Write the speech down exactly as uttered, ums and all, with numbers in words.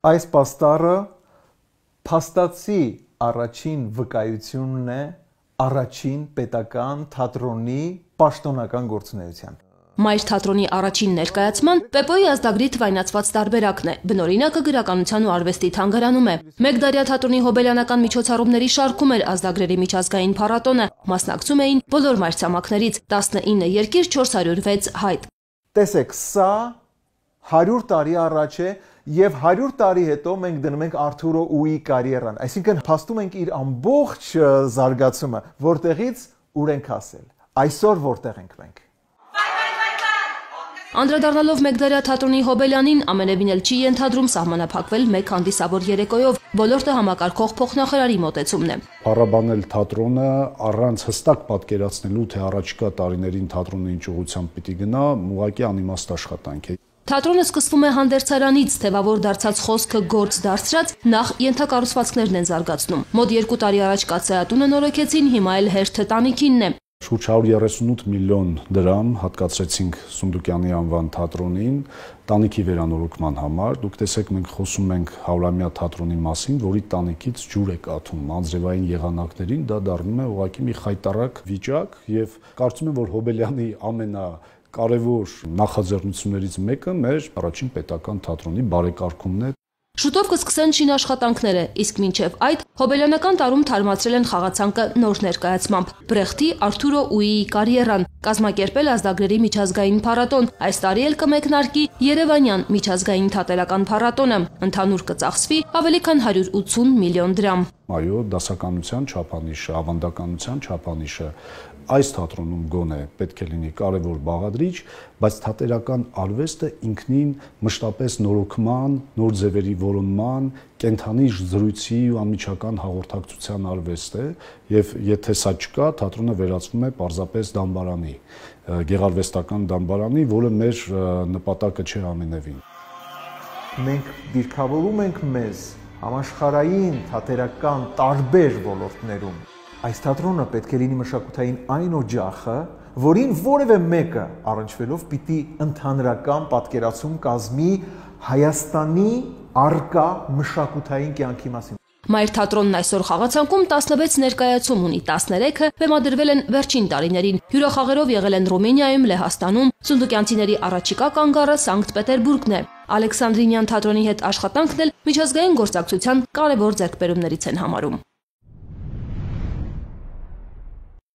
Այս պաստառը փաստացի առաջին վկայությունն է առաջին պետական թատրոնի պաշտոնական գործունեության։ Մայր թատրոնի առաջին ներկայացման Պեպոյի ազդագրի թվայնացված տարբերակն է, բնօրինակը գրականության ու արվեստի թանգարանում է։ Մեկ դարյա թատրոնի հոբելյանական միջոցառումների շարքում էր ազդագրերի միջազգային փառատոնը, մասնակցում էին բոլոր մայրցամաքներից, տասնինը երկիր, չորս հարյուր վեց հայտ։ Տեսեք, սա հարյուր տարի առաջ է եւ հարյուր տարի հետո մենք դնում ենք Արթուրո Ուի կարիերան, այսինքն փաստում ենք իր ամբողջ զարգացումը, որտեղից ուր ենք հասել, այսօր որտեղ ենք մենք։ Անդրադառնալով Մեկ դարյա թատրոնի հոբելյանին, ամենևին էլ չի ենթադրում սահմանափակվել մեկ հանդիսավոր երեկոյով, ոլորտը համակարգող փոխնախարարի մոտեցումն է։ Փառաբանել թատրոնը առանց հստակ պատկերացնելու, թե առաջիկա տարիներին թատրոնը ինչ ուղղությամբ պիտի գնա, ուղղակի անիմաստ աշխատանք է։ Թատրոնը սկսվում է հանդերձարանից, թևավոր դարձած խոսքը գործ դարձրած, նախ ենթակառուցվածքներն են զարգացնում։ Մոտ երկու տարի առաջ կաթսայատունը նորոգեցին, հիմա էլ հերթը տանիքինն է։ Շուրջ հարյուր երեսունութ միլիոն դրամ հատկացրեցինք Սունդուկյանի անվան թատրոնին տանիքի վերանորոգման համար։ Դուք տեսեք, մենք խոսում ենք հարյուրամյա թատրոնի մասին, որի տանիքից ջուր է կաթում անձրևային եղանակներին, դա դառնում է ուղղակի մի խայտառակ վիճակ եւ կարծում եմ, որ Հոբելյանի ամենա կարևոր նախաձեռնություններից մեկը մեր առաջին պետական թատրոնի բարեկարգումն է։ Շուտով կսկսեն շինաշխատանքները, իսկ մինչև այդ հոբելյանական տարում թարմացրել են խաղացանկը նոր ներկայացմամբ Բրեխտի Արթուրո Ուիի կարիերան, կազմակերպել ազդագրերի միջազգային փառատոն, այս տարի էլ կմեկնարկի Երևանյան միջազգային թատերական փառատոնը, ընդհանուր կծախսվի ավելի քան հարյուր ութսուն միլիոն դրամ։ Այո, դասականության չափանիշը, ավանդականության չափանիշը այս թատրոնում գոնե պետք է լինի կարևոր բաղադրիչ, բայց թատերական արվեստը ինքնին մշտապես նորոգման, նոր ձևերի որոնման, կենթանի զրույցի ու անմիջական հաղորդակցության արվեստ է, եւ եթե սա չկա, թատրոնը վերածվում է պարզապես դամբարանի, գեղարվեստական դամբարանի, որը մեր նպատակը չէ ամենևին։ Մենք դիրքավորում ենք մեզ համաշխարհային թատերական տարբեր ոլորտներում։ Այս թատրոնը պետք է լինի մշակութային այն օջախը, որին որևէ մեկը առնչվելով պիտի ընդհանրական պատկերացում կազմի Հայաստանի առկա մշակութային կյանքի մասին։ Մայր թատրոնն այսօր խաղացանկում տասնվեց ներկայացում ունի, տասներեքը բեմադրվել են վերջին տարիներին, հյուրախաղերով եղել են Ռումինիայում, Լեհաստանում, սունդուկյանցիների առաջիկա կանգառը Սանկտ Պետերբուրգն է։ Ալեքսանդրինյան թատրոնի հետ աշխատանքն էլ միջազգային գործակցության կարևոր ձեռքբերումներից են համարում։